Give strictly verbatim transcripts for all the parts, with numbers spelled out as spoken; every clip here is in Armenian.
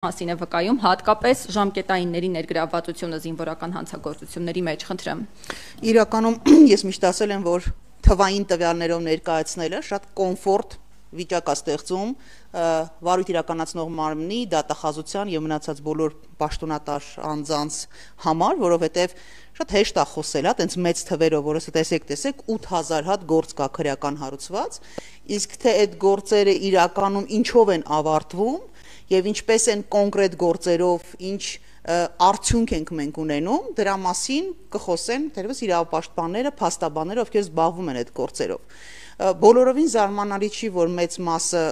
մասին է վկայում հատկապես ժամկետայինների ներգրավվածությունը զինվորական հանցագործությունների մեջ, խնդրեմ։ Իրականում ես միշտ ասել եմ, որ թվային տվյալներով ներկայացնելը շատ կոմֆորտ վիճակ է ստեղծում վարույթ իրականացնող մարմնի, դատախազության եւ մնացած բոլոր պաշտոնատար անձանց համար, որովհետեւ շատ հեշտ է խոսել, հա, տենց մեծ թվերով, որը տեսեք, տեսեք, ութ հազար հատ գործ կա քրեական հարուցված, իսկ թե այդ գործերը իրականում ինչով են ավարտվում եւ ինչպես են կոնկրետ գործերով, ինչ արդյունք ենք մենք ունենում, դրա մասին կխոսեն թերևս իրավապաշտպանները, փաստաբանները, ովքեր զբաղվում են այդ գործերով։ Բոլորովին զարմանալի չի, որ մեծ մասը,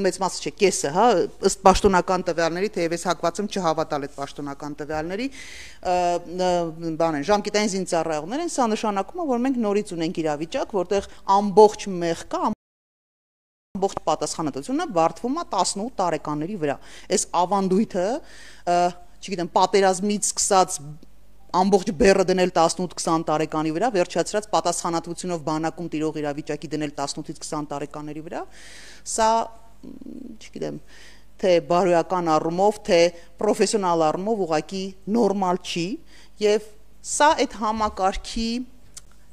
մեծ մասը չէ, կեսը, հա, ըստ պաշտոնական տվյալների, թեև ես հակված եմ չհավատալ այդ պաշտոնական տվյալների, բան են, ժամկետային զինծառայողներ են, սա նշանակում է, որ մենք նորից ունենք իրավիճակ, որտեղ ամբողջ մեղքը, ամբողջ պատասխանատվությունը բարդվում է տասնութ տարեկանների վրա։ Այս ավանդույթը, չգիտեմ, պատերազմից սկսած ամբողջ բեռը դնել տասնութ քսան տարեկանի վրա, վերջացրած պատասխանատվությունով բանակում տիրող իրավիճակի դնել տասնութից քսան տարեկաների վրա, սա, չգիտեմ, թե բարոյական առումով, թե պրոֆեսիոնալ առումով ուղղակի նորմալ չի, եւ սա այդ համակարգի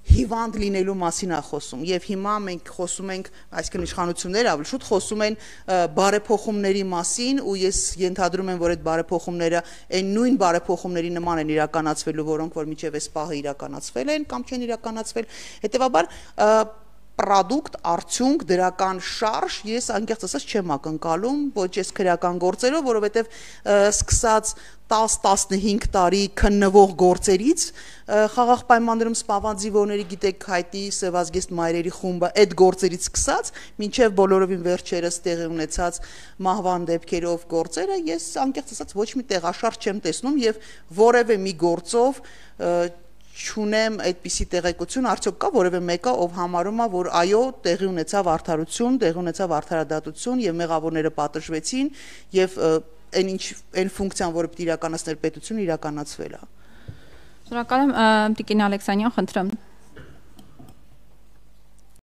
հիվանդ լինելու մասին է խոսում, եւ հիմա մենք խոսում ենք, այսինքն իշխանությունները ավելի շուտ խոսում են բարեփոխումների մասին, ու ես ենթադրում եմ, որ այդ բարեփոխումները այն նույն բարեփոխումների նման են իրականացվելու, որոնք որ մինչեւ այս պահը իրականացվել են կամ չեն իրականացվել, հետեւաբար պրոդուկտ, արդյունք, դրական շարժ ես անկեղծ ասած չեմ ակնկալում, ոչ ես քրեական գործերով, որովհետև սկսած տաս տասնհինգ տարի քննվող գործերից խաղաղ պայմաններում սպանված զինվորների, գիտեք, հայտի Սևազգեստ մայրերի խումբը այդ գործերից սկսած, մինչև բոլորովին վերջերս տեղի ունեցած մահվան դեպքերով գործերը, ես անկեղծ ասած ոչ մի տեղաշարժ չեմ տեսնում եւ որևէ մի գործով չունեմ այդպիսի տեղեկություն, արդյոք կա որևէ մեկը, ով համարում է, որ այո, տեղի ունեցավ արդարություն, տեղի ունեցավ արդարադատություն եւ մեղավորները պատժվեցին եւ այն ինչ այն ֆունկցիան, որը պետք է իրականացներ պետությունը, իրականացվել է։ Շնորհակալ եմ, Տիկին Ալեքսանյան, խնդրեմ։